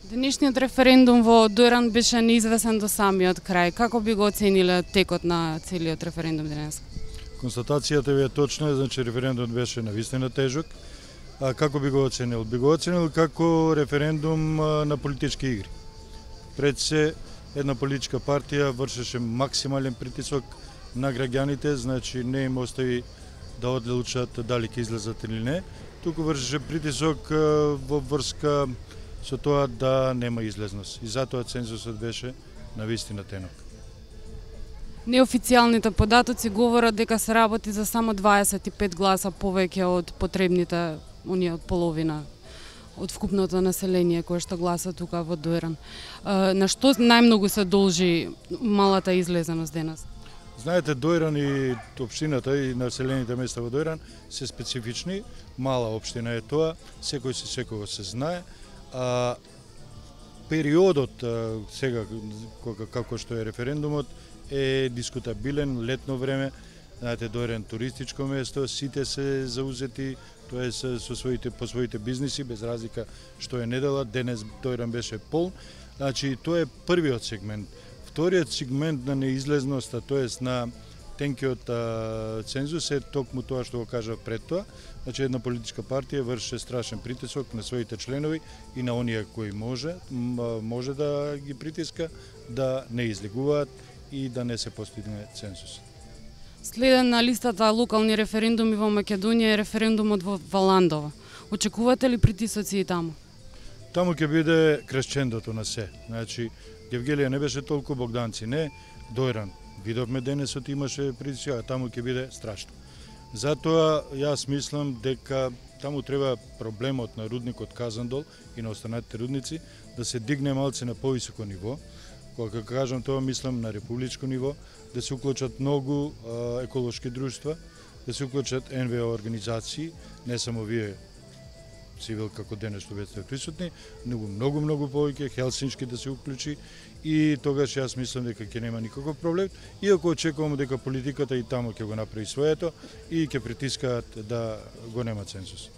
Денешниот референдум во Дојран беше неизвестен до самиот крај. Како би го оцениле текот на целиот референдум денес? Констатацијата ви е точна, значи референдумот беше навистина тежок. А како би го оценил? Би го оценил како референдум на политички игри. Пред се една политичка партија вршеше максимален притисок на граѓаните, значи не им остави да одлучат дали ќе излезат или не, туку вршеше притисок во врска со тоа да нема излезност. И затоа цензусот беше навистина тенок. Неофицијалните податоци говорат дека се работи за само 25 гласа повеќе од потребните, оние од половина од вкупното население кое што гласа тука во Дојран. На што најмногу се должи малата излезеност денес? Знаете, Дојран и општината и населените места во Дојран се специфични, мала општина е тоа, секој се секогаш се знае. Периодот сега како што е референдумот е дискутабилен, летно време, знаете, Дојран туристичко место, сите се заузети, тоа е по своите бизниси, без разлика што е недела, денес Дојран беше полн, значи тоа е првиот сегмент. Вториот сегмент на неизлезноста, тоест на тенкиот цензус е токму тоа што го кажав пред тоа, значи една политичка партија врши страшен притисок на своите членови и на оние кои може да ги притиска да не излегуваат и да не се постигне цензус. Следен на листата локални референдуми во Македонија е референдумот во Валандово. Очекувате ли притисоци и таму? Таму ќе биде кресчендото на се. Значи, Гевгелија не беше толку, Богданци не, Дојран. Видовме денесот имаше притисоци, а таму ќе биде страшно. Затоа јас мислам дека таму треба проблемот на рудникот Казандол и на останатите рудници да се дигне малце на повисоко ниво. Кога кажам тоа, мислам на републичко ниво, да се уклучат многу еколошки друштва, да се уклучат НВО организации, не само вие цивил како денес што ве сте присутни, многу повеќе, Хелсиншки да се уклучи и тогаш јас мислам дека ќе нема никаков проблем, иако очекувам дека политиката и таму ќе го направи своето и ќе притискаат да го нема цензус.